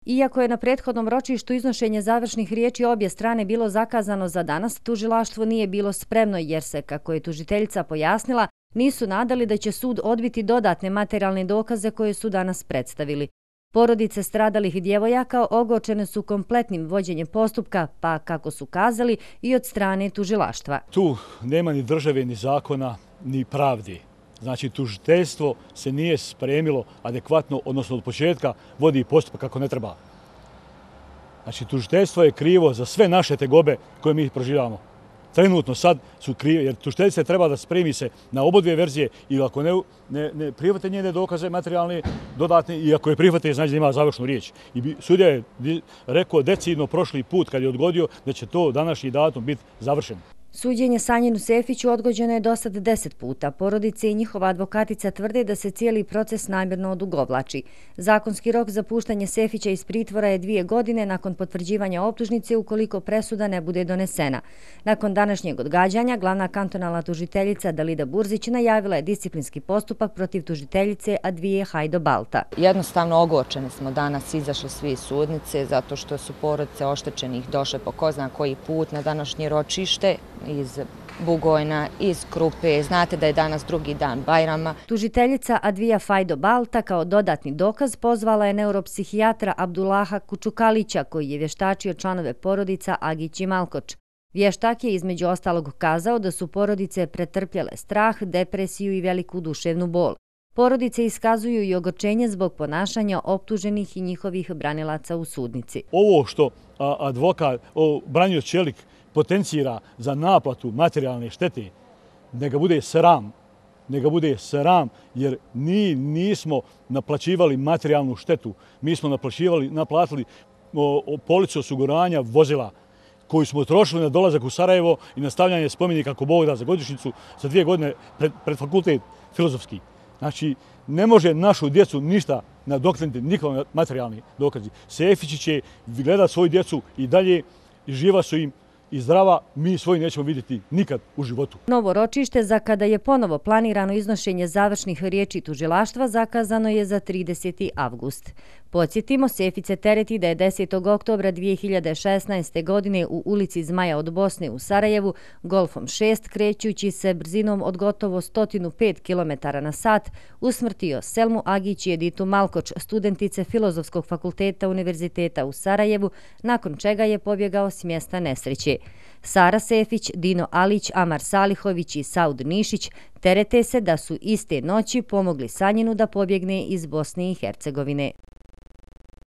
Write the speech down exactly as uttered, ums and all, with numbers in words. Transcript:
Iako je na prethodnom ročištu iznošenje završnih riječi obje strane bilo zakazano za danas, tužilaštvo nije bilo spremno jer se, kako je tužiteljica pojasnila, nisu nadali da će sud odbiti dodatne materijalne dokaze koje su danas predstavili. Porodice stradalih djevojaka ogorčene su kompletnim vođenjem postupka, pa, kako su kazali, i od strane tužilaštva. Tu nema ni države, ni zakona, ni pravdi. Znači, tužiteljstvo se nije spremilo adekvatno, odnosno od početka vodi postupak kako ne treba. Znači, tužiteljstvo je krivo za sve naše tegobe koje mi proživljavamo. Trenutno sad su krivi, jer tužiteljica treba da spremi se na obodvije verzije i ako ne, ne, ne prihvate njene dokaze materijalne, dodatne, i ako je prihvate, znači da ima završnu riječ. I sudija je rekao decidno prošli put kad je odgodio da će to današnji datum biti završen. Suđenje Sanjinu Sefiću odgođeno je do sad deset puta. Porodice i njihova advokatica tvrde da se cijeli proces namjerno odugovlači. Zakonski rok za puštanje Sefića iz pritvora je dvije godine nakon potvrđivanja optužnice ukoliko presuda ne bude donesena. Nakon današnjeg odgađanja, glavna kantonalna tužiteljica Dalida Burzić najavila je disciplinski postupak protiv tužiteljice Advije Hajdo Balta. Jednostavno ogorčeni smo danas izašli svi iz sudnice zato što su porodice oštećenih došle po ko zna koji put na današnje ročište iz Bugojna, iz Krupe. Znate da je danas drugi dan Bajrama. Tužiteljica Advija Hajdo Balta kao dodatni dokaz pozvala je neuropsihijatra Abdullaha Kučukalića koji je vještačio članove porodica Agić i Malkoč. Vještak je između ostalog kazao da su porodice pretrpjele strah, depresiju i veliku duševnu bol. Porodice iskazuju i ogorčenje zbog ponašanja optuženih i njihovih branilaca u sudnici. Ovo što advokat, branioc Čelik, potencira za naplatu materijalne štete, neka bude sram, neka bude sram, jer mi nismo naplaćivali materijalnu štetu. Mi smo naplaćivali, naplatili policu osiguranja vozila koju smo trošili na dolazak u Sarajevo i na stavljanje spomenika ako Bog da za godišnjicu za dvije godine pred, pred fakultet filozofski. Znači, ne može našu djecu ništa nadoknaditi, nikakvi materijalni dokazi. Sefići će gledati svoju djecu i dalje, i živa su im i zdrava, mi svoji nećemo vidjeti nikad u životu. Novo ročište za kada je ponovo planirano iznošenje završnih riječi tužilaštva zakazano je za trideseti avgust. Podsjetimo, Sefić se tereti da je desetog oktobra dvije hiljade šesnaeste. godine u ulici Zmaja od Bosne u Sarajevu Golfom šest krećući se brzinom od gotovo sto pet kilometara na sat usmrtio Selmu Agić i Editu Malkoč, studentice Filozofskog fakulteta Univerziteta u Sarajevu, nakon čega je pobjegao s mjesta nesreće. Sara Sefić, Dino Alić, Amar Salihović i Saud Nišić terete se da su iste noći pomogli Sanjinu da pobjegne iz Bosne i Hercegovine.